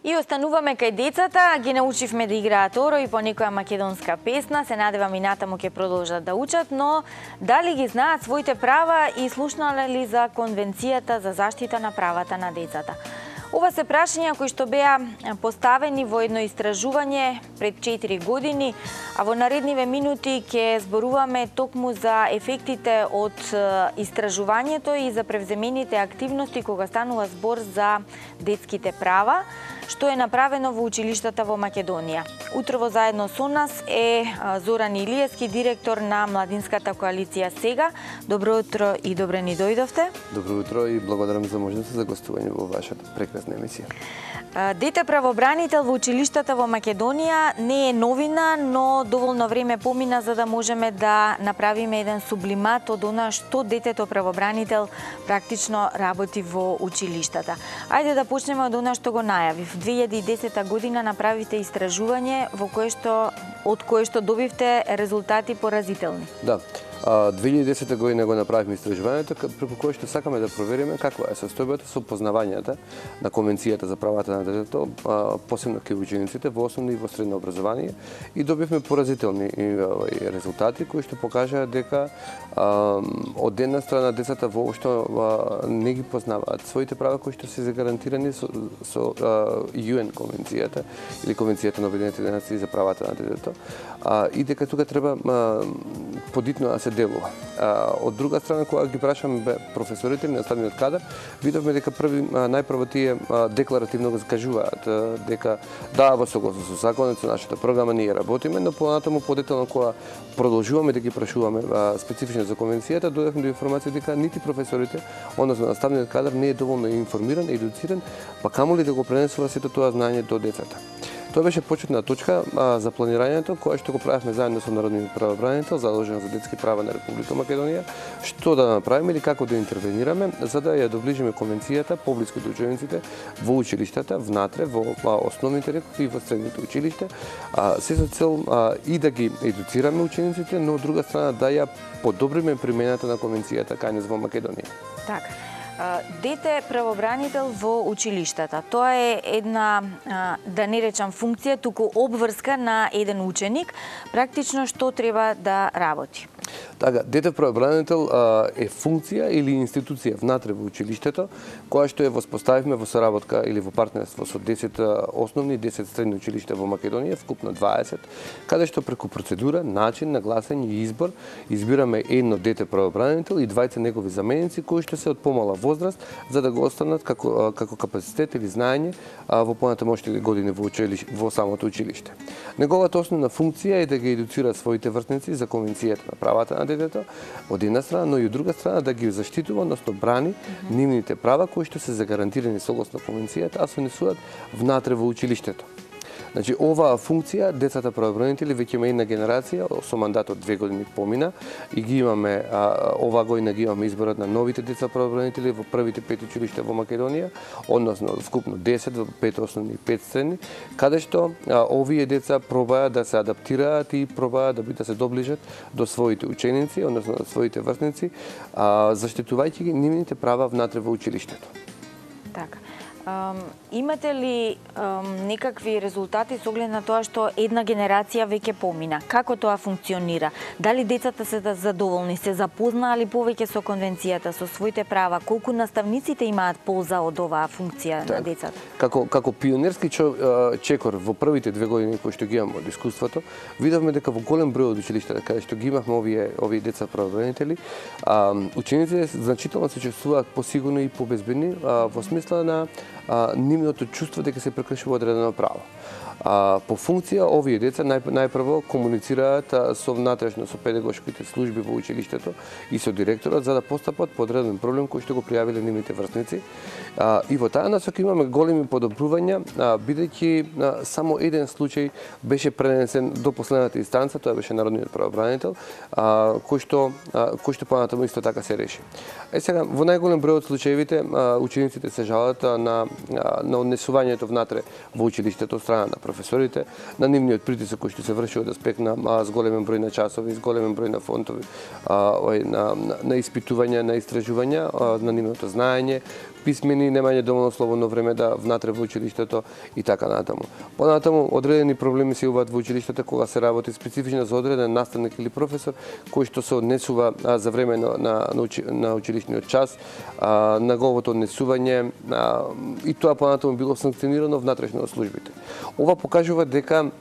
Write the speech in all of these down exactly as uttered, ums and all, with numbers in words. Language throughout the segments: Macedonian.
И остануваме кај децата, ги научивме да играат оро и по некоја македонска песна, се надевам и натаму ќе продолжат да учат, но дали ги знаат своите права и слушнале ли за Конвенцијата за заштита на правата на децата? Ова се прашања кои што беа поставени во едно истражување пред четири години, а во наредниве минути ќе зборуваме токму за ефектите од истражувањето и за превземените активности кога станува збор за детските права, што е направено во училиштата во Македонија. Утрово заедно со нас е Зоран Илиевски, директор на Младинската коалиција Сега. Добро утро и добре ни дојдовте. Добро утро и благодарам за можноста за гостување во вашата прекрасна емисија. Дете правобранител во училиштата во Македонија не е новина, но доволно време помина за да можеме да направиме еден сублимат од она што детето правобранител практично работи во училиштата. Ајде да почнеме од она што го најавив. две илјади и десета година направите истражување во кое што од кое што добивте резултати поразителни. Да. две илјади и десета година го направивме истражувањето преку кое што сакаме да провериме каква е состојбата со познавањата на Конвенцијата за правата на детето, посебно кај учениците во основно и во средно образование, и добивме поразителни резултати кои што покажаа дека од една страна децата воопшто не ги познаваат своите права кои што се загарантирани со, со ю ен конвенцијата или Конвенцијата на Обединетите нации за правата на детето, и дека тука треба подитно да се делува. Од друга страна, кога ги прашаме професорите или наставниот кадар, видовме дека први најпрво тие декларативно го скажуваат дека да, во согласно со законот, со нашата програма ние работиме, но понатаму подетално кога продолжуваме да ги прашуваме специфично за конвенцијата, дојдовме до информација дека нити професорите, односно наставниот кадар не е доволно информиран, едуциран, па камоли да го пренесува сето тоа знаење до децата. Тоа беше почетна точка а, за планирањето, кое што го правевме заедно со Народниот правобранител, задолжен за детски права на Република Македонија, што да направиме или како да интервенираме, за да ја доближиме конвенцијата поблиску до учениците во училиштата, внатре, во а, основните рекови и во средните училиште, а, се со цел а, и да ги едуцираме учениците, но од друга страна да ја подобриме примената на конвенцијата кај нас во Македонија. Така. Дете правобранител во училиштата. Тоа е една, да не речам функција, туку обврска на еден ученик, практично што треба да работи. Така, дете правобранител е функција или институција внатре во училиштето, која што ја воспоставивме во соработка или во партнерство со десет основни и десет средни училишта во Македонија, вкупно дваесет, каде што преку процедура, начин на гласање и избор избираме едно дете правобранител и двајца негови заменици кои што се од помала возраст за да го останат како како капацитет или знаење во понатамошните години во училиште, во самото училиште. Неговата основна функција е да ги едуцира своите врсници за Конвенцијата на правата на детето од една страна, но и од друга страна да ги заштитува, односно брани mm -hmm. нивните права кои што се загарантирани согласно конвенцијата, а се несуваат внатре во училиштето. Значи, оваа функција, децата правобранители, веќе има една генерација, со мандат од две години помина, и ги имаме, а, оваа година ги имаме изборот на новите деца правобранители во првите пет училишта во Македонија, односно вкупно десет во пет основни и пет средни, каде што а, овие деца пробаат да се адаптираат и пробаат да, да се доближат до своите ученици, односно до своите врсници, а, заштитувајќи ги нивните права внатре во училиштето. Така. Um, имате ли um, некакви резултати со оглед на тоа што една генерација веќе помина? Како тоа функционира? Дали децата се задоволни, се запознаали повеќе со конвенцијата, со своите права? Колку наставниците имаат полза од оваа функција так, на децата? Како како пионерски чекор во првите две години кои што ги имаме од искуството, видовме дека во голем број од училиштата каде што ги имавме овие овие деца правобранители, учениците значително се чувствуваат посигурни и побезбедни во смисла на А, нивното чувство дека се прекршува одредено право. А, по функција, овие деца нај, најпрво комуницираат а, со внатрешно со педагошките служби во училиштето и со директорот за да постапат по одреден проблем кој што го пријавиле нивните врсници. А, и во таа насока имаме големи подобрувања, бидејќи само еден случај беше пренесен до последната инстанца, тоа беше Народниот правобранител, а, кој што а, кој што понатаму исто така се реши. Е сега, во најголем број од случаевите учениците се жалат на на однесувањето внатре во училиштето од страна на професорите, на нивниот притисок кој што се врши од аспект на зголемен број на часови, зголемен број на фонтови, на, на, на испитувања, на истражувања, на нивното знаење, писмени, немање доволно слободно време да внатре во училиштето и така натаму. Понатаму одредени проблеми се јавуваат во училиштето кога се работи специфично за одреден наставник или професор кој што се однесува а, за време на на, на, учи, на училишниот час, а, на неговото однесување а, и тоа понатаму било санкционирано внатрешно од службите. Ова покажува дека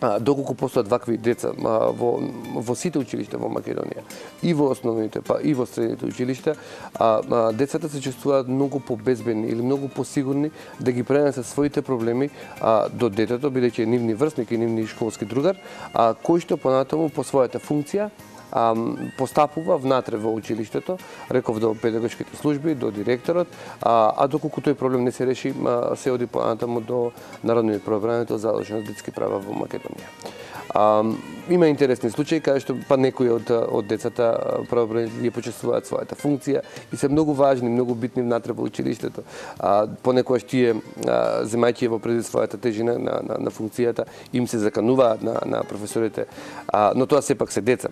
А, доколку постојат вакви деца а, во, во сите училишта во Македонија, и во основните, па и во средните училишта, а, а, децата се чувствуваат многу побезбедни или многу посигурни да ги пренесат своите проблеми а, до детето, бидејќи е нивни врсник и нивни школски другар, а, кој што понатаму по својата функција А, постапува внатре во училиштето, реков до педагошките служби, до директорот, а, а доколку тој проблем не се реши, а, се оди понатаму до Народниот правобранител за задолжено детски права во Македонија. А, има интересни случаи каде што па некои од од децата правобранители почувствуваат својата функција и се многу важни, многу битни внатре во училиштето. А, понекогаш тие земајќи во преди својата тежина на, на, на функцијата им се закануваат на, на професорите, а, но тоа сепак се деца.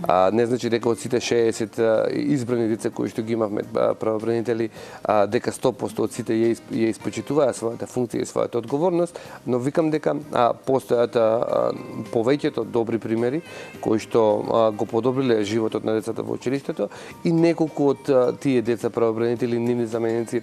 А, не значи дека од сите шеесет избрани деца кои што ги имавме правобранители, а, дека сто проценти од сите ја, ја испочитуваа својата функција и својата одговорност, но викам дека а, постојат а, повеќето добри примери кои што а, го подобриле животот на децата во училиштето и неколку од а, тие деца правобранители, нивни заменици,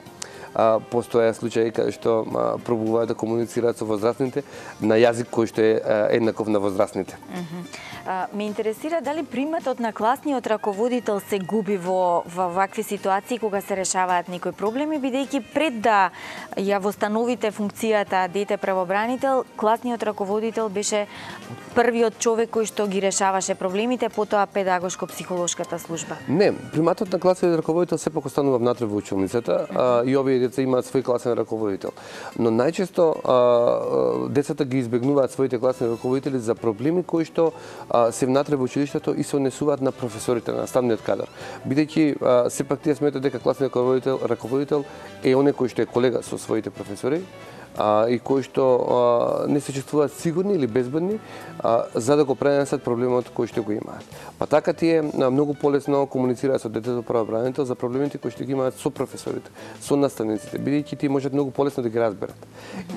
а, постоја случаи каде што а, пробуваат да комуницираат со возрастните на јазик кој што е а, еднаков на возрастните. Mm -hmm. а, ме интересира дали приматот на класниот раководител се губи во, во вакви ситуации кога се решаваат некои проблеми, бидејќи пред да ја востановите функцијата дете правобранител, класниот раководител беше првиот човек кој што ги решаваше проблемите, потоа педагошко-психолошката служба. Не, приматот на класниот раководител сепак останува внатре во училницата, а, и овие деца имаат свој класен раководител. Но најчесто а, децата ги избегнуваат своите класни раководители за проблеми кои што а, се внатре во училиштето и се однесуваат на професорите, на наставниот кадар. Бидејќи сепак тие сметаат дека класниот раководител, раководител е оној кој што е колега со своите професори, а, и кои што а, не се чувствуваат сигурни или безбедни а, за да го пренесат проблемот кој што го имаат. Па така тие а, многу полесно комуницираат со детето правобранител за проблемите кои што ги имаат со професорите, со наставниците, бидејќи тие можат многу полесно да ги разберат.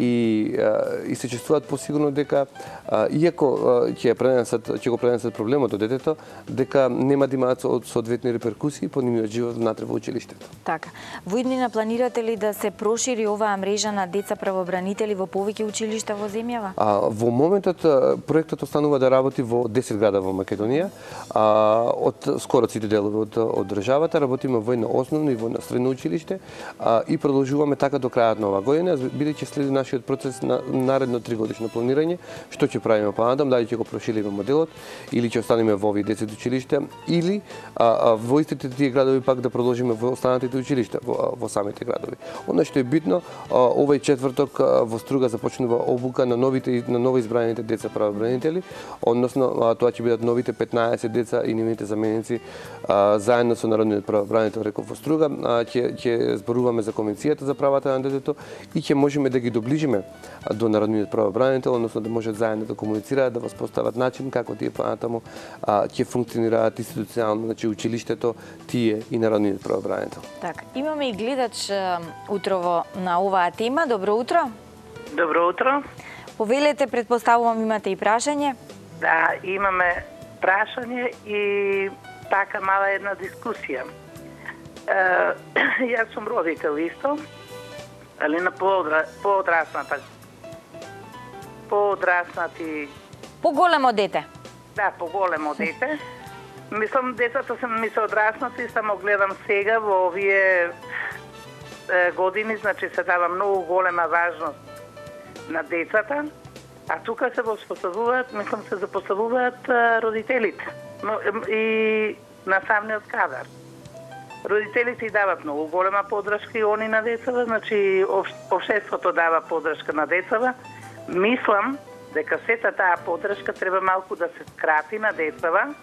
И а, и се чувствуваат посигурно дека а, иако ќе пренесат ќе го пренесат проблемот до детето, дека нема да имаат соодветни реперкусии по нивниот живот внатре во училиштето. Така. Во иднина планирате ли да се прошири оваа мрежа на деца правобранители во повеќе училишта во земјава? А, во моментот проектот останува да работи во десет града во Македонија. А, од скоро сите делови од, од државата работиме во едно основно и во едно средно училиште а, и продолжуваме така до крајот на оваа година, бидејќи следи нашиот процес на наредно тригодишно планирање, што ќе правиме понатам, дали ќе го прошириме моделот или ќе останеме во овие десет училишта или а, а, во истите тие градови пак да продолжиме во останатите училишта во, во самите градови. Она што е битно, а, овој четврток а, во Струга започнува обука на новите на новоизбраните деца правобранители, односно а, тоа ќе бидат новите петнаесет деца и нивните заменици а, заедно со Народниот правобранител реков во Струга, а, ќе ќе зборуваме за Конвенцијата за правата на детето и ќе можеме да ги доближиме до Народниот правобранител, односно да можат заедно да комуницираат, да воспостават начин како тие понатаму ќе функционираат институционално, значи училиштето, тие и Народниот правобранител. Така, имаме и гледач утрово на оваа тема. Добро утро. Добро утро. Повелете, предпоставувам имате и прашање? Да, имаме прашање и така мала една дискусија. Е, јас сум родител исто, али на поодра, поодрасната поодраснати Поголемо дете. Да, поголемо дете. Мислам, децата се ми се одраснати, само гледам сега во овие е, години, значи се дава многу голема важност на децата, а тука се воспоставуваат, мислам, се запоставуваат а, родителите но, и наставниот кадар. Родителите дават многу голема поддршка и они на децата, значи општеството дава поддршка на децата. Мислам дека сета таа поддршка треба малку да се скрати на децата,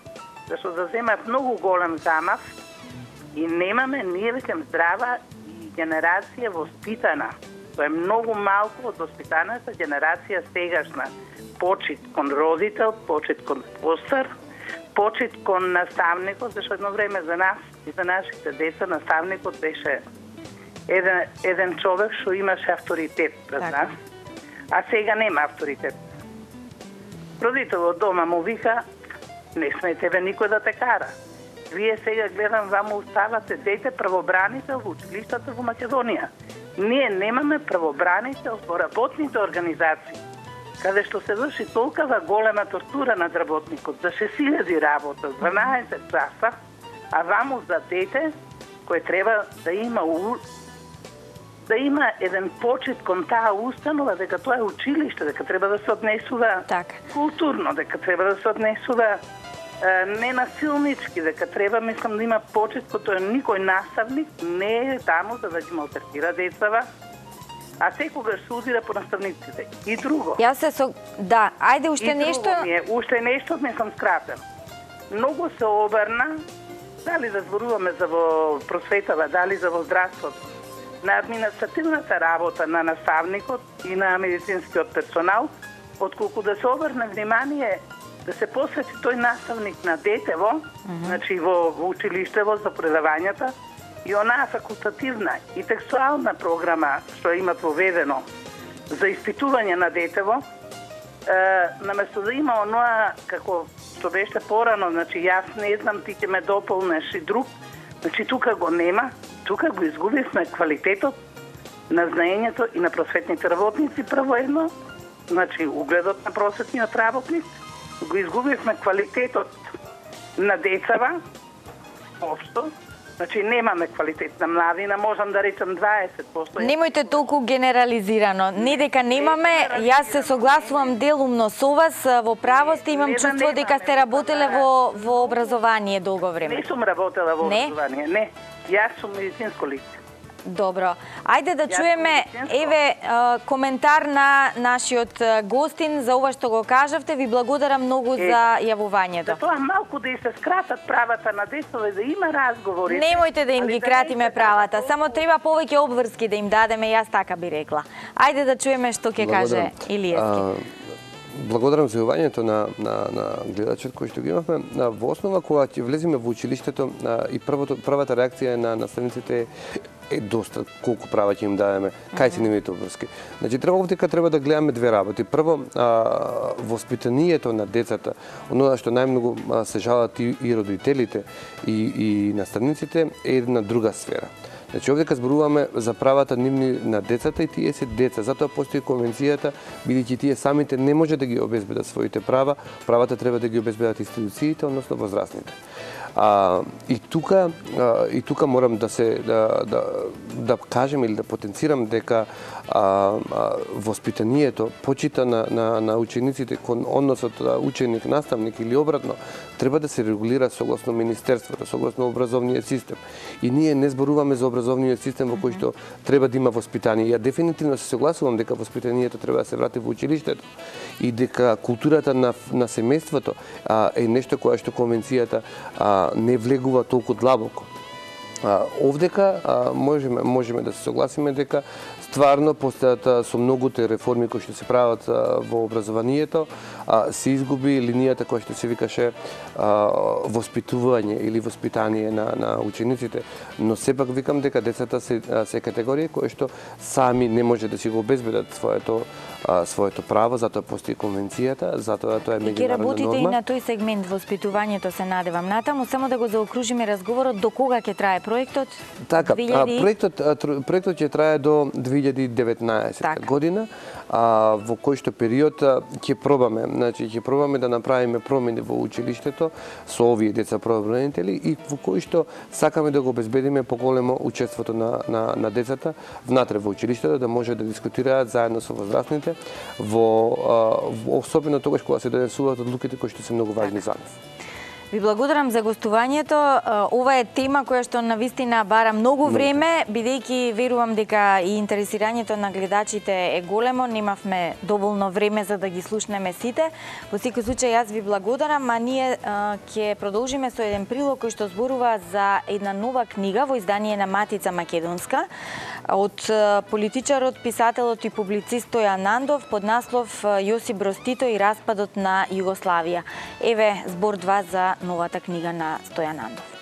зашто да земат многу голем замав и немаме ние веќе здрава и генерација воспитана. Тоа е многу малку од воспитаната генерација сегашна. Почит кон родител, почит кон постар, почит кон наставникот, зашто едно време за нас и за нашите деца наставникот беше еден, еден човек што имаше авторитет пред Така. нас, а сега нема авторитет. Родителот дома му вика, не сме тебе никој да те кара. Вие сега гледам вам оставате дете правобранител во училиштата во Македонија. Ние немаме правобранител во работните организации, каде што се врши толкова голема тортура над работникот, за шест илјади работа, дванаесет часа, а ваму за дете кој треба да има у... да има еден почит кон таа установа, дека тоа е училиште, дека треба да се однесува Така. културно, дека треба да се однесува е, ненасилнички, дека треба, мислам, да има почит кон тоа. Никој наставник не е таму за да ги малтретира децава, а секогаш се удира по наставниците. И друго. Јас се со... Да, ајде уште И друго нешто... ми е, уште нешто ми сам скратен. Многу се обрна, дали да зборуваме за во просветава, дали за во здравството, на административната работа на наставникот и на медицинскиот персонал, отколку да се обрне внимание да се посвети тој наставник на детево, mm -hmm. значи во, во училиштево за предавањата, и онаа факултативна и текстуална програма што имат воведено за испитување на детево, е, наместо да има оноа како што беше порано, значи јас не знам, ти ќе ме дополнеш и друг, значи тука го нема, тука го изгубивме квалитетот на знаењето и на просветните работници прво едно, значи угледот на просветниот работник, го изгубивме квалитетот на децава, општо, значи немаме квалитет на младина, можам да речам дваесет проценти. Немојте толку генерализирано. Не дека немаме, јас се согласувам делумно со вас, во право сте, имам Не да чувство нема, дека не сте да работеле нема. во, во образование долго време. Не сум работела во Не? образование, не. Јас сум медицинско лице. Добро. Ајде да Јас чуеме, сум медицинско. еве, а, коментар на нашиот а, гостин за ова што го кажавте. Ви благодарам многу Е, за јавувањето. За тоа малку да и се скратат правата на децата, да има разговори. Немојте да им Али ги да кратиме не се правата, толку- само треба повеќе обврски да им дадеме, јас така би рекла. Ајде да чуеме што ќе каже Илиевски. Благодарам за јавувањето на, на, на гледачот кој што ги имавме. На, во основа, кога ќе влеземе во училиштето, а, и првото, првата реакција на наставниците е доста колку права ќе им дадеме, кај се нивните обврски. Значи, треба овдека треба да гледаме две работи. Прво, а, воспитанието на децата, оно што најмногу а, се жалат и, и родителите и, и наставниците, е една друга сфера. Значи, овдека зборуваме за правата нивни на децата и тие се деца. Затоа постои конвенцијата, бидејќи тие самите не може да ги обезбедат своите права, правата треба да ги обезбедат институциите, односно возрастните. А, и тука а, и тука морам да се да, да, да кажем или да потенцирам дека а, а, воспитанието, почита на, на, на учениците кон односот ученик наставник или обратно, треба да се регулира согласно министерството, согласно образовниот систем. И ние не зборуваме за образовниот систем во кој што треба да има воспитание. Ја дефинитивно се согласувам дека воспитанието треба да се врати во училиштето и дека културата на на семејството а, е нешто кое што конвенцијата а, не влегува толку длабоко. А, овдека а, можеме можеме да се согласиме дека стварно постојат со многуте реформи кои што се прават а, во образованието, а, се изгуби линијата која што се викаше а, воспитување или воспитание на, на учениците, но сепак викам дека децата се, се категорија кои што сами не може да си го обезбедат своето а, своето право, затоа постои конвенцијата, затоа тоа е И ќе меѓународна работите и норма. на тој сегмент воспитувањето, се надевам натаму, само да го заокружиме разговорот, до кога ќе трае проектот? Така, две а, илјади проектот а, тр- проектот ќе трае до две илјади и деветнаесетта Така. година, а, во кој што период а, ќе пробаме, значи ќе пробаме да направиме промени во училиштето со овие деца правобранители и во кој што сакаме да го обезбедиме поголемо учеството на, на, на децата внатре во училиштето, да може да дискутираат заедно со возрастните во, а, во особено тогаш кога се донесуваат одлуките кои што се многу важни за нас. Ви благодарам за гостувањето. Ова е тема која што навистина бара многу време, бидејќи верувам дека и интересирањето на гледачите е големо, немавме доволно време за да ги слушнеме сите. Во секој случај јас ви благодарам, а ние ќе продолжиме со еден прилог кој што зборува за една нова книга во издание на Матица Македонска од политичарот, писателот и публицист Стојан Нандов под наслов Јосип Броз Тито и распадот на Југославија. Еве збор два за новата книга на Стојан Нандов.